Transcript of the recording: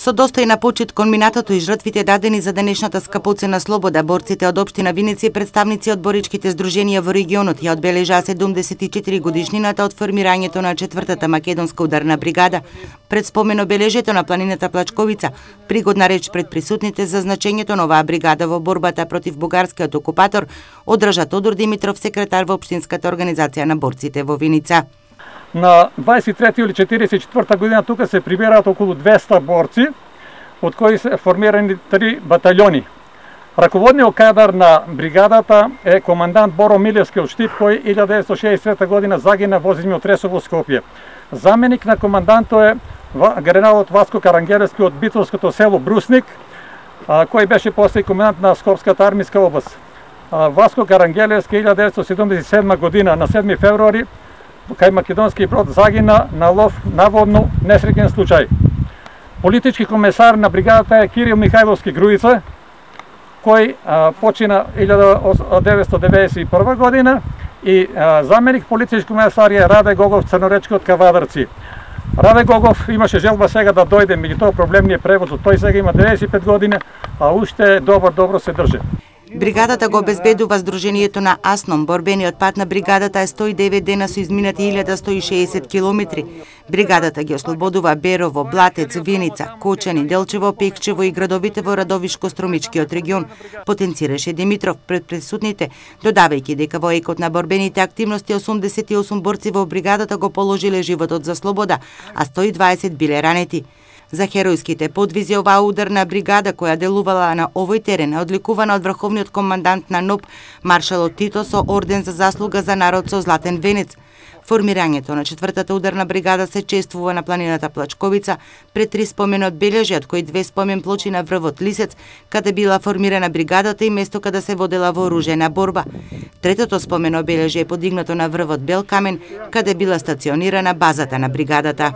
Со достојна почит кон минатото и жртвите дадени за денешната скапоцена слобода, борците од општина Виница и представници од боричките здруженија во регионот ја одбележаа 74 годишнината од формирањето на 4-та македонска ударна бригада. Пред спомен обележето на планината Плачковица, пригодна реч пред присутните за значењето на оваа бригада во борбата против бугарскиот окупатор, одржа Тодор Димитров, секретар во општинската организација на борците во Виница. На 23 или 44 година тука се прибираат околу 200 борци, од кои се формирани 3 батальони. Раководниот кадар на бригадата е командант Боро Милевски од Штип, кој 1963 година загина во зимјот Ресово Скопје. Заменик на командантот е генералот Васко Карангелевски од битолското село Брусник, кој беше после комендант на Скопската армиска област. Васко Карангелевски 1977 година на 7 февруари кај македонски брод загина на лов, наводно несреќен случај. Политички комесар на бригадата е Кирил Михајловски Груица, кој почина 1991 година и заменик политички комесар е Раде Гогов Црноречки од Кавадарци. Раде Гогов имаше желба сега да дојде, меѓутоа проблем не е превозот. Тој сега има 95 години, а уште добро се држи. Бригадата го обезбедува здружението на Асном. Борбениот пат на бригадата е 109 дена со изминати 1160 километри. Бригадата ги ослободува Берово, Блатец, Виница, Кочани, Делчево, Пекчево и градовите во Радовишко-Стромичкиот регион, потенцираше Димитров пред присутните, додавајќи дека во екот на борбените активности 88 борци во бригадата го положиле животот за слобода, а 120 биле ранети. За херојските подвизи оваа ударна бригада која делувала на овој терен е одликувана од врховниот командант на НОБ маршалот Тито со орден за заслуга за народ со златен венец. Формирањето на 4-та ударна бригада се чествува на планината Плачковица пред 3 спомен одбележи, од кои 2 спомен плочи на врвот Лисец, каде била формирана бригадата и место каде се водела вооружена борба. Третото спомен обележи е подигнато на врвот Бел Камен, каде била стационирана базата на бригадата.